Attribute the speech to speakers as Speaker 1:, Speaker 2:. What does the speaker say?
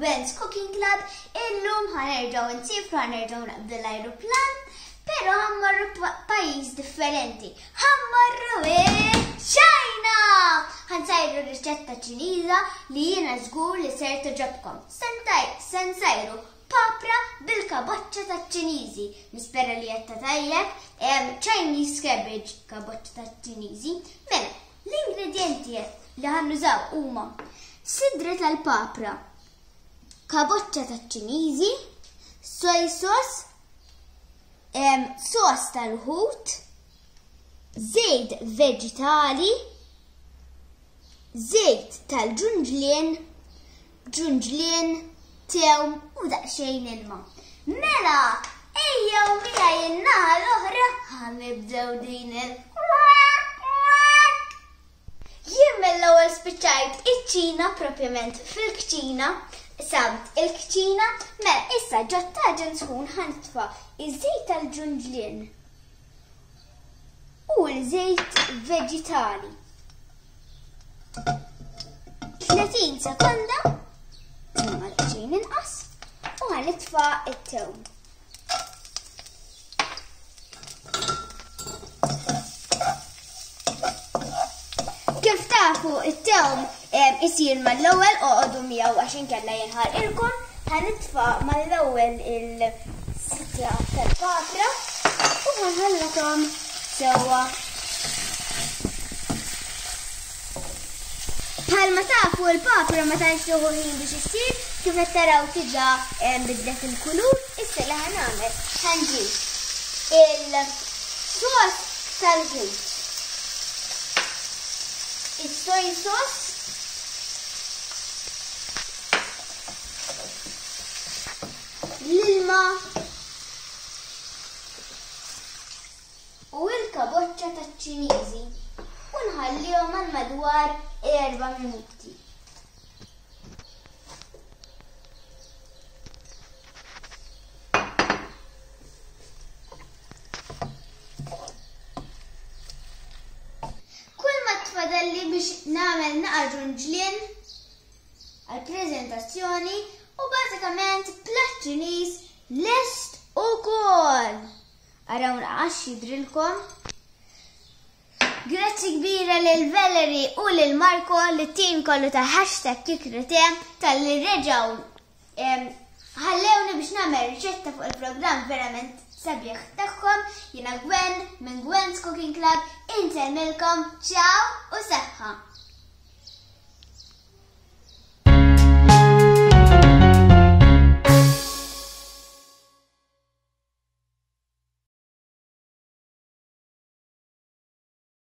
Speaker 1: Gwen's Cooking Club. Illum ħa nerġgħu nsifru, ħa nerġgħu naqbdu l-ajruplan, però ħa mmorru pajjiż differenti. Ħa mmorru China! Ħa nsajru riċetta Ċiniża li jiena żgur li ser togħġobkom. Se nsajru papra bil-kaboċċa taċ-Ċiniżi. Nispera li għedtha tajjeb, Chinese cabbage, kaboċċa taċ-Ċiniżi. Mela, l-ingredjenti li ħa nużaw huma sidra tal-papra, kaboċċa taċ-Ċiniżi, soy sauce, sos tal-ħut, żejt veġitali, żejt tal-ġunġlien, ġunġlien, tewm u daqsxejn ilma. Mela, ejjew miegħi in-naħa l-oħra ħa nibdew din il Jien mill-ewwel spiċċajt iċ-ċina propjament fil-kċina, samt il-kċina, mela issa ġot-taġen sħun ħa nitfa' iż-żejt tal-ġunġlien u l-żejt veġitali. 30 sekonda, imma daqsxejn inqas, u ħa nitfa' it-tewm. Kif tafu it-tewm isir mal-ewwel oqogħdu miegħu għax inkella jinħarqilkom. Ħa nitfa' mal-ewwel il-sitra tal-papra u ħa nħallathom sewwa. Bħalma tafu l-papra ma tantx tieħu ħin biex issir, kif qed taraw diġà bidlet il-kulur, issa li ħa nagħmel ħa nġib il-sos tal-ħut. Is-soy sauce l-ilma u l-kaboċċa taċ-Ċiniżi u nħallihom għal madwar erba' minuti. Kull ma tfadalli biex nagħmel naqa' ġunġlien għall-preżentazzjoni u bażikament platt Ċiniż lest ukoll. Araw naqax jidrilkom. Grazzi kbira lil Valerie u lil Marco li tim kollu ta' hashtag kikrite tal-li reġaw ħallewni biex nagħmel riċetta fuq il-programm verament sabiħ tagħhom. Jiena Gwen minn Gwen's Cooking Club, insellmilkom, ciao u saħħa.